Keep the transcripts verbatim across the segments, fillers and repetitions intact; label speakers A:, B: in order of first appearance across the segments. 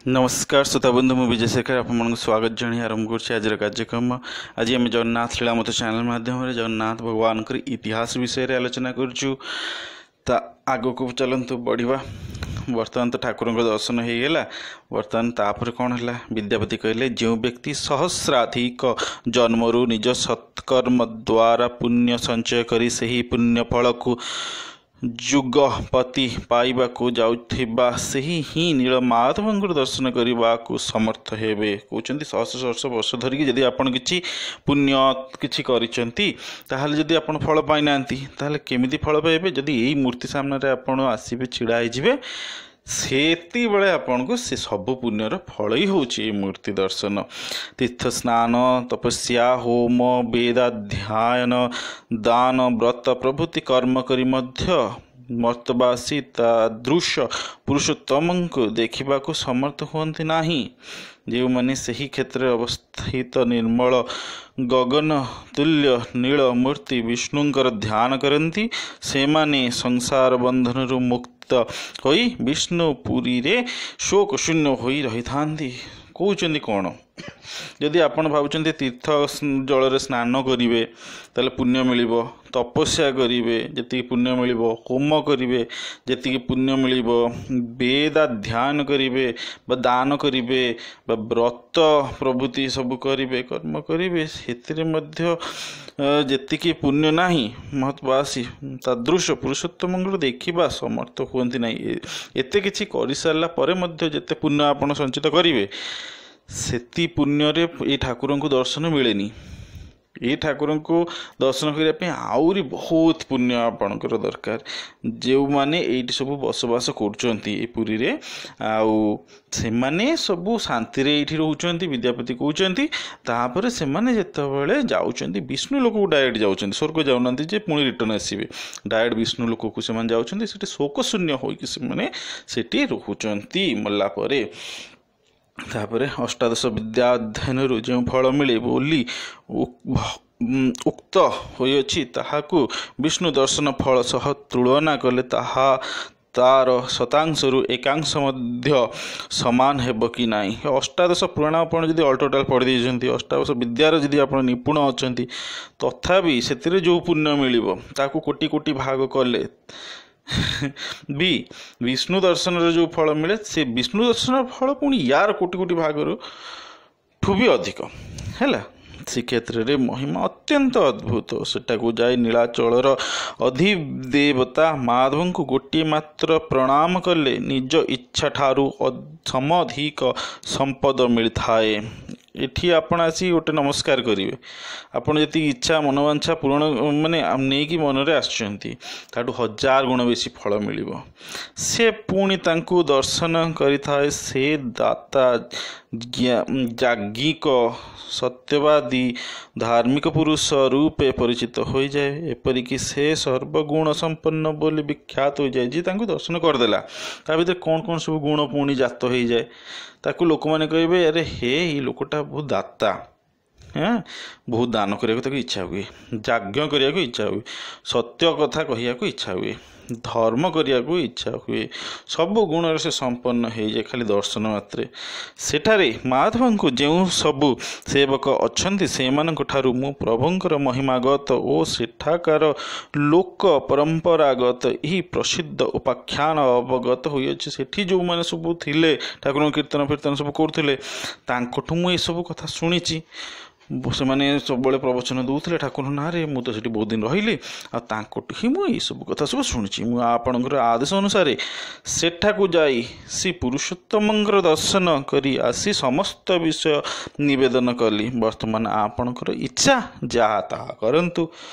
A: ନମସ୍କାର ଶ୍ରୋତାବନ୍ଧୁ, ମୁଁ ବିଜୟ ଶେଖର ଆପଣମାନଙ୍କୁ ସ୍ୱାଗତ ଜଣାଇ ଆରମ୍ଭ କରୁଛି ଆଜିର କାର୍ଯ୍ୟକ୍ରମ। ଆଜି ଆମେ ଜଗନ୍ନାଥ ଲୀଳାମୃତ ଚ୍ୟାନେଲ୍ ମାଧ୍ୟମରେ ଜଗନ୍ନାଥ ଭଗବାନଙ୍କର ଇତିହାସ ବିଷୟରେ ଆଲୋଚନା କରୁଛୁ। ତା ଆଗକୁ ଚାଲନ୍ତୁ ବଢ଼ିବା। ବର୍ତ୍ତମାନ ତ ଠାକୁରଙ୍କ ଦର୍ଶନ ହେଇଗଲା, ବର୍ତ୍ତମାନ ତାପରେ କ'ଣ ହେଲା? ବିଦ୍ୟାପତି କହିଲେ, ଯେଉଁ ବ୍ୟକ୍ତି ସହସ୍ରାଧିକ ଜନ୍ମରୁ ନିଜ ସତ୍କର୍ମ ଦ୍ୱାରା ପୁଣ୍ୟ ସଞ୍ଚୟ କରି ସେହି ପୁଣ୍ୟ ଫଳକୁ ଯୁଗପତି ପାଇବାକୁ ଯାଉଥିବା, ସେହି ହିଁ ନୀଳମାଧବଙ୍କର ଦର୍ଶନ କରିବାକୁ ସମର୍ଥ ହେବେ। କହୁଛନ୍ତି, ସହସ୍ର ସହସ୍ର ବର୍ଷ ଧରିକି ଯଦି ଆପଣ କିଛି ପୁଣ୍ୟ କିଛି କରିଛନ୍ତି, ତାହେଲେ ଯଦି ଆପଣ ଫଳ ପାଇନାହାନ୍ତି, ତାହେଲେ କେମିତି ଫଳ ପାଇବେ? ଯଦି ଏଇ ମୂର୍ତ୍ତି ସାମ୍ନାରେ ଆପଣ ଆସିବେ, ଛିଡ଼ା ହେଇଯିବେ, ସେତିକିବେଳେ ଆପଣଙ୍କୁ ସେ ସବୁ ପୁଣ୍ୟର ଫଳ ହିଁ ହେଉଛି ଏଇ ମୂର୍ତ୍ତି ଦର୍ଶନ। ତୀର୍ଥ ସ୍ନାନ, ତପସ୍ୟା, ହୋମ, ବେଦାଧ୍ୟୟନ, ଦାନ, ବ୍ରତ ପ୍ରଭୃତି କର୍ମ କରି ମଧ୍ୟ ମର୍ତ୍ତବାସୀ ତାଦୃଶ ପୁରୁଷୋତ୍ତମଙ୍କୁ ଦେଖିବାକୁ ସମର୍ଥ ହୁଅନ୍ତି ନାହିଁ। ଯେଉଁମାନେ ସେହି କ୍ଷେତ୍ରରେ ଅବସ୍ଥିତ ନିର୍ମଳ ଗଗନ ତୁଲ୍ୟ ନୀଳ ମୂର୍ତ୍ତି ବିଷ୍ଣୁଙ୍କର ଧ୍ୟାନ କରନ୍ତି, ସେମାନେ ସଂସାର ବନ୍ଧନରୁ ମୁକ୍ତ ହୋଇ ବିଷ୍ଣୁ ପୁରୀରେ ଶୋକଶୂନ୍ୟ ହୋଇ ରହିଥାନ୍ତି। କହୁଛନ୍ତି କ'ଣ? ଯଦି ଆପଣ ଭାବୁଛନ୍ତି ତୀର୍ଥ ଜଳରେ ସ୍ନାନ କରିବେ ତାହେଲେ ପୁଣ୍ୟ ମିଳିବ, ତପସ୍ୟା କରିବେ ଯେତିକି ପୁଣ୍ୟ ମିଳିବ, ହୋମ କରିବେ ଯେତିକି ପୁଣ୍ୟ ମିଳିବ, ବେଦାଧ୍ୟୟନ କରିବେ ବା ଦାନ କରିବେ ବା ବ୍ରତ ପ୍ରଭୃତି ସବୁ କରିବେ, କର୍ମ କରିବେ, ସେଥିରେ ମଧ୍ୟ ଯେତିକି ପୁଣ୍ୟ ନାହିଁ, ମହତ୍ବାସୀ ତାଦୃଶ ପୁରୁଷୋତ୍ତମଙ୍କର ଦେଖିବା ସମର୍ଥ ହୁଅନ୍ତି ନାହିଁ। ଏତେ କିଛି କରିସାରିଲା ପରେ ମଧ୍ୟ ଯେତେ ପୁଣ୍ୟ ଆପଣ ସଞ୍ଚିତ କରିବେ, ସେତି ପୁଣ୍ୟରେ ଏଇ ଠାକୁରଙ୍କୁ ଦର୍ଶନ ମିଳେନି। ଏଇ ଠାକୁରଙ୍କୁ ଦର୍ଶନ କରିବା ପାଇଁ ଆହୁରି ବହୁତ ପୁଣ୍ୟ ଆପଣଙ୍କର ଦରକାର। ଯେଉଁମାନେ ଏଇଠି ସବୁ ବସବାସ କରୁଛନ୍ତି ଏ ପୁରୀରେ, ଆଉ ସେମାନେ ସବୁ ଶାନ୍ତିରେ ଏଇଠି ରହୁଛନ୍ତି, ବିଦ୍ୟାପତି କହୁଛନ୍ତି। ତାପରେ ସେମାନେ ଯେତେବେଳେ ଯାଉଛନ୍ତି ବିଷ୍ଣୁ ଲୋକକୁ ଡାଇରେକ୍ଟ ଯାଉଛନ୍ତି, ସ୍ୱର୍ଗ ଯାଉନାହାନ୍ତି ଯେ ପୁଣି ରିଟର୍ଣ୍ଣ ଆସିବେ, ଡାଇରେକ୍ଟ ବିଷ୍ଣୁ ଲୋକକୁ ସେମାନେ ଯାଉଛନ୍ତି। ସେଠି ଶୋକଶୂନ୍ୟ ହୋଇକି ସେମାନେ ସେଠି ରହୁଛନ୍ତି ମଲା ପରେ। ତାପରେ ଅଷ୍ଟାଦଶ ବିଦ୍ୟା ଅଧ୍ୟୟନରୁ ଯେଉଁ ଫଳ ମିଳେ ବୋଲି ଉକ୍ତ ହୋଇଅଛି, ତାହାକୁ ବିଷ୍ଣୁ ଦର୍ଶନ ଫଳ ସହ ତୁଳନା କଲେ ତାହା ତାର ଶତାଂଶରୁ ଏକାଂଶ ମଧ୍ୟ ସମାନ ହେବ କି ନାହିଁ। ଅଷ୍ଟାଦଶ ପୁରାଣ ଆପଣ ଯଦି ଅଲ୍ ଟୋଟାଲ୍ ପଢ଼ି ଦେଇଛନ୍ତି, ଅଷ୍ଟାଦଶ ବିଦ୍ୟାର ଯଦି ଆପଣ ନିପୁଣ ଅଛନ୍ତି, ତଥାପି ସେଥିରେ ଯେଉଁ ପୁଣ୍ୟ ମିଳିବ ତାକୁ କୋଟି କୋଟି ଭାଗ କଲେ ବି ବିଷ୍ଣୁ ଦର୍ଶନର ଯେଉଁ ଫଳ ମିଳେ, ସେ ବିଷ୍ଣୁ ଦର୍ଶନର ଫଳ ପୁଣି ୟାର କୋଟି କୋଟି ଭାଗରୁ ଠୁ ବି ଅଧିକ ହେଲା। ଶ୍ରୀକ୍ଷେତ୍ରରେ ମହିମା ଅତ୍ୟନ୍ତ ଅଦ୍ଭୁତ। ସେଠାକୁ ଯାଇ ନୀଳାଚଳର ଅଧିଦେବତା ମାଧବଙ୍କୁ ଗୋଟିଏ ମାତ୍ର ପ୍ରଣାମ କଲେ ନିଜ ଇଚ୍ଛା ଠାରୁ ସମଧିକ ସମ୍ପଦ ମିଳିଥାଏ। ଏଠି ଆପଣ ଆସି ଗୋଟେ ନମସ୍କାର କରିବେ, ଆପଣ ଯେତିକି ଇଚ୍ଛା ମନୋବାଞ୍ଛା ପୂରଣ ମାନେ ନେଇକି ମନରେ ଆସିଛନ୍ତି, ତାଠୁ ହଜାର ଗୁଣ ବେଶୀ ଫଳ ମିଳିବ। ସେ ପୁଣି ତାଙ୍କୁ ଦର୍ଶନ କରିଥାଏ। ସେ ଦାତା, ଯାଜ୍ଞିକ, ସତ୍ୟବାଦୀ, ଧାର୍ମିକ ପୁରୁଷ ରୂପେ ପରିଚିତ ହୋଇଯାଏ। ଏପରିକି ସେ ସର୍ବଗୁଣ ସମ୍ପନ୍ନ ବୋଲି ବିଖ୍ୟାତ ହୋଇଯାଏ। ଯିଏ ତାଙ୍କୁ ଦର୍ଶନ କରିଦେଲା, ତା ଭିତରେ କ'ଣ କ'ଣ ସବୁ ଗୁଣ ପୁଣି ଜାତ ହେଇଯାଏ, ତାକୁ ଲୋକମାନେ କହିବେ, ଆରେ ହେ, ଏଇ ଲୋକଟା ବହୁତ ଦାତା, ହଁ, ବହୁତ ଦାନ କରିବାକୁ ତାକୁ ଇଚ୍ଛା ହୁଏ, ଯଜ୍ଞ କରିବାକୁ ଇଚ୍ଛା ହୁଏ, ସତ୍ୟ କଥା କହିବାକୁ ଇଚ୍ଛା ହୁଏ, ଧର୍ମ କରିବାକୁ ଇଚ୍ଛା ହୁଏ, ସବୁ ଗୁଣରେ ସେ ସମ୍ପନ୍ନ ହେଇଯାଏ ଖାଲି ଦର୍ଶନ ମାତ୍ରେ। ସେଠାରେ ମାଧବଙ୍କୁ ଯେଉଁ ସବୁ ସେବକ ଅଛନ୍ତି, ସେମାନଙ୍କ ଠାରୁ ମୁଁ ପ୍ରଭୁଙ୍କର ମହିମାଗତ ଓ ସେଠାକାର ଲୋକ ପରମ୍ପରାଗତ ଏହି ପ୍ରସିଦ୍ଧ ଉପାଖ୍ୟାନ ଅବଗତ ହୋଇଅଛି। ସେଠି ଯେଉଁମାନେ ସବୁ ଥିଲେ, ଠାକୁରଙ୍କ କୀର୍ତ୍ତନ ଫୀର୍ତ୍ତନ ସବୁ କରୁଥିଲେ, ତାଙ୍କଠୁ ମୁଁ ଏସବୁ କଥା ଶୁଣିଛି। ସେମାନେ ସବୁବେଳେ ପ୍ରବଚନ ଦେଉଥିଲେ ଠାକୁରଙ୍କ ନାଁରେ। ମୁଁ ତ ସେଠି ବହୁତ ଦିନ ରହିଲି, ଆଉ ତାଙ୍କଠୁ ହିଁ ମୁଁ ଏଇସବୁ କଥା ସବୁ ଶୁଣିଛି। ମୁଁ ଆପଣଙ୍କର ଆଦେଶ ଅନୁସାରେ ସେଠାକୁ ଯାଇ ଶ୍ରୀ ପୁରୁଷୋତ୍ତମଙ୍କର ଦର୍ଶନ କରି ଆସି ସମସ୍ତ ବିଷୟ ନିବେଦନ କଲି। ବର୍ତ୍ତମାନ ଆପଣଙ୍କର ଇଚ୍ଛା ଯାହା ତାହା କରନ୍ତୁ,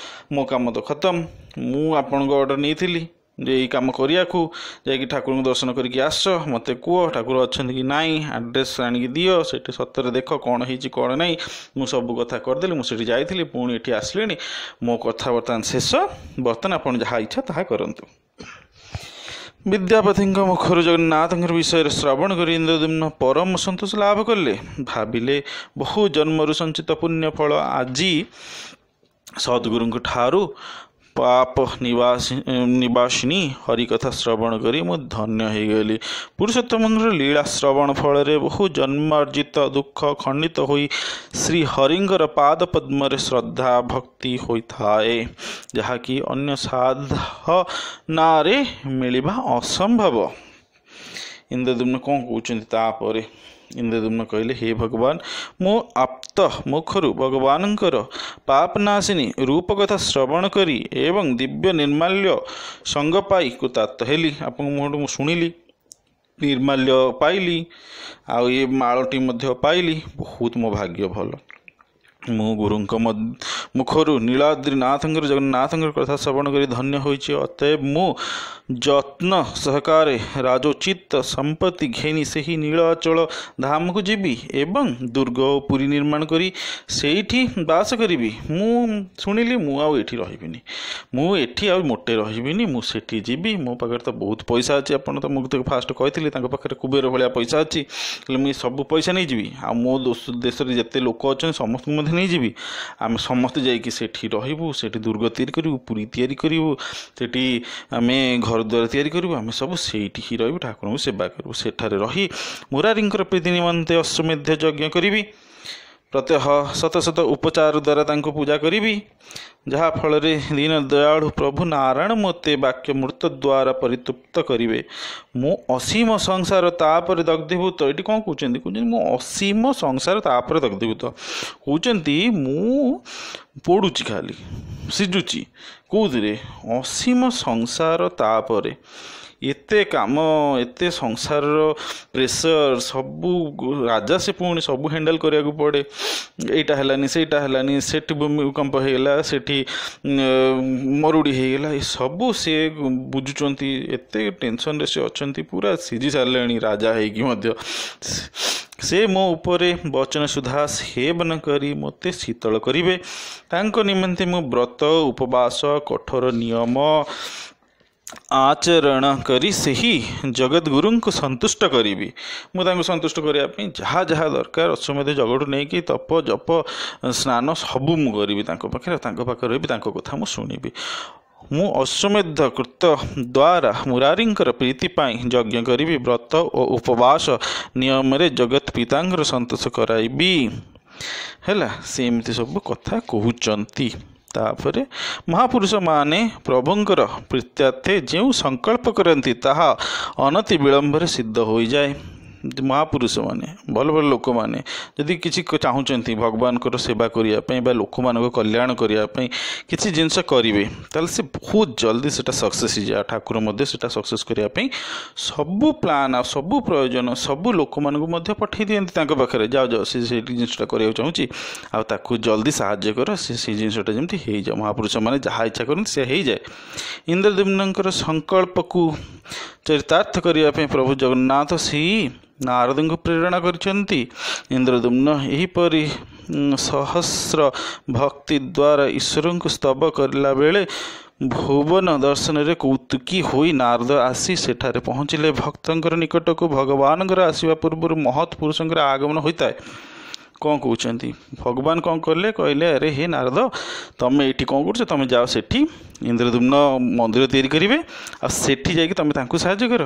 A: ମୋ କାମ ତ ଖତମ। ମୁଁ ଆପଣଙ୍କ ଅର୍ଡ଼ର ନେଇଥିଲି ଯେ ଏଇ କାମ କରିବାକୁ, ଯାଇକି ଠାକୁରଙ୍କୁ ଦର୍ଶନ କରିକି ଆସ, ମୋତେ କୁହ ଠାକୁର ଅଛନ୍ତି କି ନାହିଁ, ଆଡ୍ରେସ୍ ଆଣିକି ଦିଅ, ସେଠି ସତରେ ଦେଖ କ'ଣ ହେଇଛି କ'ଣ ନାହିଁ। ମୁଁ ସବୁ କଥା କରିଦେଲି, ମୁଁ ସେଠି ଯାଇଥିଲି, ପୁଣି ଏଠି ଆସିଲିଣି, ମୋ କଥା ବର୍ତ୍ତମାନ ଶେଷ। ବର୍ତ୍ତମାନ ଆପଣ ଯାହା ଇଚ୍ଛା ତାହା କରନ୍ତୁ। ବିଦ୍ୟାପତିଙ୍କ ମୁଖରୁ ଜଗନ୍ନାଥଙ୍କର ବିଷୟରେ ଶ୍ରବଣ କରି ଇନ୍ଦ୍ରଦ୍ୟୁମ୍ନ ପରମ ସନ୍ତୋଷ ଲାଭ କଲେ। ଭାବିଲେ, ବହୁ ଜନ୍ମରୁ ସଞ୍ଚିତ ପୁଣ୍ୟ ଫଳ ଆଜି ସଦ୍ଗୁରୁଙ୍କ ଠାରୁ ପାପ ନିବାସୀ ନିବାସିନୀ ହରିକଥା ଶ୍ରବଣ କରି ମୁଁ ଧନ୍ୟ ହେଇଗଲି। ପୁରୁଷୋତ୍ତମଙ୍କର ଲୀଳା ଶ୍ରବଣ ଫଳରେ ବହୁ ଜନ୍ମାର୍ଜିତ ଦୁଃଖ ଖଣ୍ଡିତ ହୋଇ ଶ୍ରୀ ହରିଙ୍କର ପାଦ ପଦ୍ମରେ ଶ୍ରଦ୍ଧା ଭକ୍ତି ହୋଇଥାଏ, ଯାହାକି ଅନ୍ୟ ସାଧନାରେ ମିଳିବା ଅସମ୍ଭବ। ଇନ୍ଦ୍ରଦ୍ୟୁମ୍ନ କ'ଣ କହୁଛନ୍ତି ତାପରେ? ଇନ୍ଦ୍ରଦ୍ୟୁମ୍ନ କହିଲେ, ହେ ଭଗବାନ, ମୁଁ ଆପ୍ତ ମୁଖରୁ ଭଗବାନଙ୍କର ପାପନାଶିନୀ ରୂପ କଥା ଶ୍ରବଣ କରି ଏବଂ ଦିବ୍ୟ ନିର୍ମାଲ୍ୟ ସଙ୍ଗ ପାଇ କୃତାର୍ଥ ହେଲି। ଆପଣଙ୍କ ମୁହଁଠୁ ମୁଁ ଶୁଣିଲି, ନିର୍ମାଲ୍ୟ ପାଇଲି, ଆଉ ଏ ମାଳଟି ମଧ୍ୟ ପାଇଲି। ବହୁତ ମୋ ଭାଗ୍ୟ ଭଲ। ମୁଁ ଗୁରୁଙ୍କ ମୁଖରୁ ନୀଳାଦ୍ରିନାଥଙ୍କର ଜଗନ୍ନାଥଙ୍କର କଥା ଶ୍ରବଣ କରି ଧନ୍ୟ ହୋଇଛି। ଅତଏବ ମୁଁ ଯତ୍ନ ସହକାରେ ରାଜୋଚିତ ସମ୍ପତ୍ତି ଘେନି ସେହି ନୀଳାଚଳ ଧାମକୁ ଯିବି ଏବଂ ଦୁର୍ଗ ଓ ପୁରୀ ନିର୍ମାଣ କରି ସେଇଠି ବାସ କରିବି। ମୁଁ ଶୁଣିଲି, ମୁଁ ଆଉ ଏଠି ରହିବିନି, ମୁଁ ଏଠି ଆଉ ମୋଟେ ରହିବିନି, ମୁଁ ସେଠି ଯିବି। ମୋ ପାଖରେ ତ ବହୁତ ପଇସା ଅଛି, ଆପଣ ତ ମୁଁ ତ ଫାଷ୍ଟ କହିଥିଲି ତାଙ୍କ ପାଖରେ କୁବେର ଭଳିଆ ପଇସା ଅଛି। ହେଲେ ମୁଁ ଏ ସବୁ ପଇସା ନେଇଯିବି, ଆଉ ମୋ ଦେଶରେ ଯେତେ ଲୋକ ଅଛନ୍ତି ସମସ୍ତଙ୍କୁ ମଧ୍ୟ ନେଇଯିବି। ଆମେ ସମସ୍ତେ ଯାଇକି ସେଠି ରହିବୁ, ସେଠି ଦୁର୍ଗ ତିଆରି କରିବୁ, ପୁରୀ ତିଆରି କରିବୁ, ସେଠି ଆମେ ଘର ଦ୍ୱାର ତିଆରି କରିବୁ, ଆମେ ସବୁ ସେଇଠି ହିଁ ରହିବୁ, ଠାକୁରଙ୍କୁ ସେବା କରିବୁ। ସେଠାରେ ରହି ମୁରାରୀଙ୍କର ପ୍ରୀତି ନିମନ୍ତେ ଅଶ୍ୱମେଧ ଯଜ୍ଞ କରିବି, ପ୍ରତ୍ୟହ ଶତ ଶତ ଉପଚାର ଦ୍ୱାରା ତାଙ୍କୁ ପୂଜା କରିବି, ଯାହାଫଳରେ ଦୀନ ଦୟାଳୁ ପ୍ରଭୁ ନାରାୟଣ ମୋତେ ବାକ୍ୟ ମୃତ ଦ୍ୱାରା ପରିତୃପ୍ତ କରିବେ। ମୁଁ ଅସୀମ ସଂସାର ତାପରେ ଦଗ୍ଧୀଭୂତ। ଏଠି କ'ଣ କହୁଛନ୍ତି? କହୁଛନ୍ତି ମୁଁ ଅସୀମ ସଂସାର ତାପରେ ଦଗ୍ଧୀଭୂତ। କହୁଛନ୍ତି ମୁଁ ପୋଡ଼ୁଛି, ଖାଲି ସିଝୁଛି। କେଉଁଥିରେ? ଅସୀମ ସଂସାର ତାପରେ। ଏତେ କାମ, ଏତେ ସଂସାରର ପ୍ରେସର, ସବୁ ରାଜା ସେ ପୁଣି ସବୁ ହ୍ୟାଣ୍ଡେଲ୍ କରିବାକୁ ପଡ଼େ। ଏଇଟା ହେଲାନି, ସେଇଟା ହେଲାନି, ସେଠି ଭୂମିକମ୍ପ ହେଇଗଲା, ସେଠି ମରୁଡ଼ି ହେଇଗଲା, ଏସବୁ ସେ ବୁଝୁଛନ୍ତି। ଏତେ ଟେନସନ୍ରେ ସେ ଅଛନ୍ତି, ପୁରା ସିଝି ସାରିଲେଣି ରାଜା ହେଇକି ମଧ୍ୟ। ସେ ମୋ ଉପରେ ବଚନ ସୁଧା ସେବନ କରି ମୋତେ ଶୀତଳ କରିବେ। ତାଙ୍କ ନିମନ୍ତେ ମୁଁ ବ୍ରତ, ଉପବାସ, କଠୋର ନିୟମ ଆଚରଣ କରି ସେହି ଜଗଦ୍ଗୁରୁଙ୍କୁ ସନ୍ତୁଷ୍ଟ କରିବି। ମୁଁ ତାଙ୍କୁ ସନ୍ତୁଷ୍ଟ କରିବା ପାଇଁ ଯାହା ଯାହା ଦରକାର, ଅଶ୍ୱମେଧ ଜଗଠୁ ନେଇକି ତପ, ଜପ, ସ୍ନାନ ସବୁ ମୁଁ କରିବି ତାଙ୍କ ପାଖରେ, ତାଙ୍କ ପାଖରେ ରହିବି, ତାଙ୍କ କଥା ମୁଁ ଶୁଣିବି। ମୁଁ ଅଶ୍ୱମେଧ କୃତ ଦ୍ୱାରା ମୁରାରୀଙ୍କର ପ୍ରୀତି ପାଇଁ ଯଜ୍ଞ କରିବି, ବ୍ରତ ଓ ଉପବାସ ନିୟମରେ ଜଗତ ପିତାଙ୍କର ସନ୍ତୋଷ କରାଇବି। ହେଲା, ସେ ଏମିତି ସବୁ କଥା କହୁଛନ୍ତି। ତାପରେ ମହାପୁରୁଷମାନେ ପ୍ରଭୁଙ୍କର ପ୍ରୀତ୍ୟାର୍ଥେ ଯେଉଁ ସଂକଳ୍ପ କରନ୍ତି ତାହା ଅନତି ବିଳମ୍ବରେ ସିଦ୍ଧ ହୋଇଯାଏ। ମହାପୁରୁଷମାନେ, ଭଲ ଭଲ ଲୋକମାନେ ଯଦି କିଛି ଚାହୁଁଛନ୍ତି ଭଗବାନଙ୍କର ସେବା କରିବା ପାଇଁ ବା ଲୋକମାନଙ୍କ କଲ୍ୟାଣ କରିବା ପାଇଁ କିଛି ଜିନିଷ କରିବେ, ତାହେଲେ ସେ ବହୁତ ଜଲ୍ଦି ସେଇଟା ସକ୍ସେସ୍ ହେଇଯାଏ। ଠାକୁର ମଧ୍ୟ ସେଇଟା ସକ୍ସେସ୍ କରିବା ପାଇଁ ସବୁ ପ୍ଲାନ୍ ଆଉ ସବୁ ପ୍ରୟୋଜନ ସବୁ ଲୋକମାନଙ୍କୁ ମଧ୍ୟ ପଠାଇ ଦିଅନ୍ତି ତାଙ୍କ ପାଖରେ। ଯାଅ ଯାଅ, ସେ ସେଇଠି ଜିନିଷଟା କରିବାକୁ ଚାହୁଁଛି, ଆଉ ତାକୁ ଜଲ୍ଦି ସାହାଯ୍ୟ କର, ସେ ସେଇ ଜିନିଷଟା ଯେମିତି ହେଇଯାଉ। ମହାପୁରୁଷମାନେ ଯାହା ଇଚ୍ଛା କରନ୍ତି ସେ ହେଇଯାଏ। ଇନ୍ଦ୍ରଦ୍ୟୁମ୍ନଙ୍କର ସଂକଳ୍ପକୁ ଚରିତାର୍ଥ କରିବା ପାଇଁ ପ୍ରଭୁ ଜଗନ୍ନାଥ ସେଇ ନାରଦଙ୍କୁ ପ୍ରେରଣା କରିଛନ୍ତି। ଇନ୍ଦ୍ରଦ୍ୟୁମ୍ନ ଏହିପରି ସହସ୍ର ଭକ୍ତି ଦ୍ୱାରା ଈଶ୍ୱରଙ୍କୁ ସ୍ତବ କରିଲା ବେଳେ ଭୁବନ ଦର୍ଶନରେ କୌତୁକୀ ହୋଇ ନାରଦ ଆସି ସେଠାରେ ପହଞ୍ଚିଲେ। ଭକ୍ତଙ୍କର ନିକଟକୁ ଭଗବାନଙ୍କର ଆସିବା ପୂର୍ବରୁ ମହତ୍ ପୁରୁଷଙ୍କର ଆଗମନ ହୋଇଥାଏ। କ'ଣ କହୁଛନ୍ତି? ଭଗବାନ କ'ଣ କଲେ? କହିଲେ, ଆରେ ହେ ନାରଦ, ତମେ ଏଇଠି କ'ଣ କରୁଛ? ତମେ ଯାଅ ସେଠି, ଇନ୍ଦ୍ରଦ୍ୟୁମ୍ନ ମନ୍ଦିର ତିଆରି କରିବେ, ଆଉ ସେଠି ଯାଇକି ତମେ ତାଙ୍କୁ ସାହାଯ୍ୟ କର।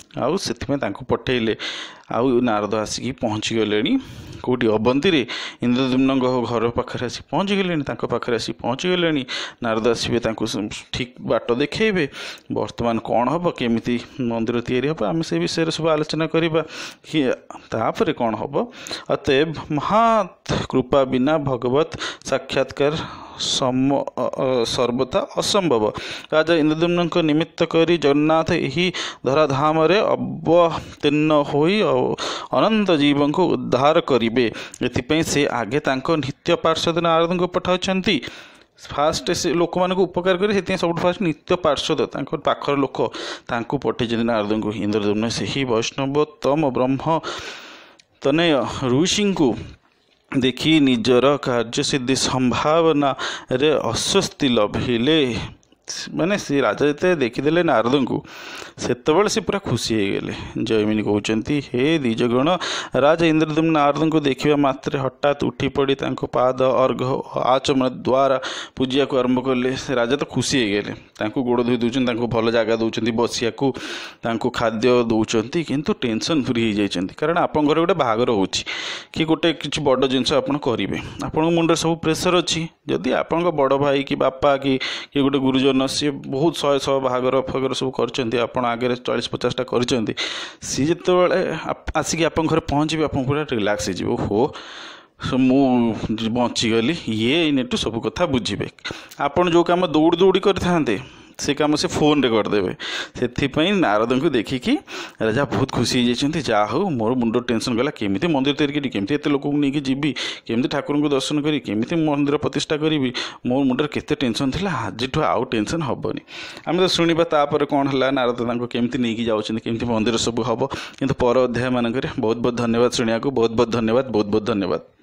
A: ଆଉ ସେଥିପାଇଁ ତାଙ୍କୁ ପଠେଇଲେ। ଆଉ ନାରଦ ଆସିକି ପହଞ୍ଚିଗଲେଣି କେଉଁଠି? ଅବନ୍ତୀରେ ଇନ୍ଦ୍ରଦ୍ୟୁମ୍ନଙ୍କ ଘର ପାଖରେ ଆସି ପହଞ୍ଚିଗଲେଣି, ତାଙ୍କ ପାଖରେ ଆସି ପହଞ୍ଚିଗଲେଣି। ନାରଦ ଆସିବେ, ତାଙ୍କୁ ଠିକ୍ ବାଟ ଦେଖେଇବେ। ବର୍ତ୍ତମାନ କ'ଣ ହେବ, କେମିତି ମନ୍ଦିର ତିଆରି ହେବ, ଆମେ ସେ ବିଷୟରେ ସବୁ ଆଲୋଚନା କରିବା। ତାପରେ କ'ଣ ହେବ? ଅତଏବ ମହାତ କୃପା ବିନା ଭଗବତ ସାକ୍ଷାତକାର ସମ ସର୍ବଥା ଅସମ୍ଭବ। ରାଜା ଇନ୍ଦ୍ରଦ୍ୟୁମ୍ନଙ୍କ ନିମିତ୍ତ କରି ଜଗନ୍ନାଥ ଏହି ଧରାଧାମରେ ଅବତୀର୍ଣ୍ଣ ହୋଇ ଅନନ୍ତ ଜୀବଙ୍କୁ ଉଦ୍ଧାର କରିବେ। ଏଥିପାଇଁ ସେ ଆଗେ ତାଙ୍କ ନିତ୍ୟ ପାର୍ଶ୍ୱଦ ନାରଦଙ୍କୁ ପଠାଉଛନ୍ତି। ଫାଷ୍ଟ ସେ ଲୋକମାନଙ୍କୁ ଉପକାର କରି ସେଥିପାଇଁ ସବୁଠୁ ଫାଷ୍ଟ ନିତ୍ୟ ପାର୍ଶ୍ୱଦ ତାଙ୍କ ପାଖର ଲୋକ ତାଙ୍କୁ ପଠେଇଛନ୍ତି ନାରଦଙ୍କୁ। ଇନ୍ଦ୍ରଦ୍ୟୁମ୍ନ ସେହି ବୈଷ୍ଣବୋତ୍ତମ ବ୍ରହ୍ମ ତନୟ ଋଷିଙ୍କୁ ଦେଖି ନିଜର କାର୍ଯ୍ୟସିଦ୍ଧି ସମ୍ଭାବନାରେ ଆଶ୍ୱସ୍ତି ଲଭିଲେ। ମାନେ ସେ ରାଜା ଯେତେ ଦେଖିଦେଲେ ନାରଦଙ୍କୁ, ସେତେବେଳେ ସେ ପୁରା ଖୁସି ହେଇଗଲେ। ଜୟମିନୀ କହୁଛନ୍ତି, ହେ ଦ୍ୱିଜଗଣ, ରାଜା ଇନ୍ଦ୍ରଦ୍ୟୁମ୍ନ ନାରଦଙ୍କୁ ଦେଖିବା ମାତ୍ରେ ହଠାତ୍ ଉଠି ପଡ଼ି ତାଙ୍କ ପାଦ ଅର୍ଘ ଆଚମନ ଦ୍ୱାରା ପୂଜିବାକୁ ଆରମ୍ଭ କଲେ। ସେ ରାଜା ତ ଖୁସି ହେଇଗଲେ, ତାଙ୍କୁ ଗୋଡ଼ ଧୋଇ ଦେଉଛନ୍ତି, ତାଙ୍କୁ ଭଲ ଜାଗା ଦେଉଛନ୍ତି ବସିବାକୁ, ତାଙ୍କୁ ଖାଦ୍ୟ ଦେଉଛନ୍ତି, କିନ୍ତୁ ଟେନସନ୍ ଫ୍ରି ହେଇଯାଇଛନ୍ତି। କାରଣ ଆପଣଙ୍କ ଘରେ ଗୋଟେ ବାହାଘର ହେଉଛି କି ଗୋଟେ କିଛି ବଡ଼ ଜିନିଷ ଆପଣ କରିବେ, ଆପଣଙ୍କ ମୁଣ୍ଡରେ ସବୁ ପ୍ରେସର୍ ଅଛି। ଯଦି ଆପଣଙ୍କ ବଡ଼ ଭାଇ କି ବାପା କି କିଏ ଗୋଟେ ଗୁରୁଜନ, ସିଏ ବହୁତ ଶହେ ଶହ ବାହାଘର ଫାଘର ସବୁ କରିଛନ୍ତି, ଆପଣ ଆଗରେ ଚାଳିଶ ପଚାଶଟା କରିଛନ୍ତି, ସିଏ ଯେତେବେଳେ ଆସିକି ଆପଣଙ୍କ ଘରେ ପହଞ୍ଚିବେ, ଆପଣ ପୁରା ରିଲାକ୍ସ ହେଇଯିବେ। ଓହୋ, ମୁଁ ବଞ୍ଚିଗଲି, ଇଏ ଏଇନେଠୁ ସବୁ କଥା ବୁଝିବେ। ଆପଣ ଯେଉଁ କାମ ଦୌଡ଼ି ଦୌଡ଼ି କରିଥାନ୍ତେ, ସେ କାମ ସେ ଫୋନ୍ରେ କରିଦେବେ। ସେଥିପାଇଁ ନାରଦଙ୍କୁ ଦେଖିକି ରାଜା ବହୁତ ଖୁସି ହେଇଯାଇଛନ୍ତି। ଯାହା ହଉ, ମୋର ମୁଣ୍ଡ ଟେନସନ୍ ଗଲା, କେମିତି ମନ୍ଦିର ତିଆରି କରିବି, କେମିତି ଏତେ ଲୋକଙ୍କୁ ନେଇକି ଯିବି, କେମିତି ଠାକୁରଙ୍କୁ ଦର୍ଶନ କରିବି, କେମିତି ମନ୍ଦିର ପ୍ରତିଷ୍ଠା କରିବି, ମୋ ମୁଣ୍ଡରେ କେତେ ଟେନସନ୍ ଥିଲା, ଆଜିଠୁ ଆଉ ଟେନସନ୍ ହେବନି। ଆମେ ତ ଶୁଣିବା ତାପରେ କ'ଣ ହେଲା, ନାରଦ ତାଙ୍କୁ କେମିତି ନେଇକି ଯାଉଛନ୍ତି, କେମିତି ମନ୍ଦିର ସବୁ ହେବ, କିନ୍ତୁ ପର ଅଧ୍ୟାୟ ମାନଙ୍କରେ। ବହୁତ ବହୁତ ଧନ୍ୟବାଦ ଶୁଣିବାକୁ, ବହୁତ ବହୁତ ଧନ୍ୟବାଦ, ବହୁତ ବହୁତ ଧନ୍ୟବାଦ।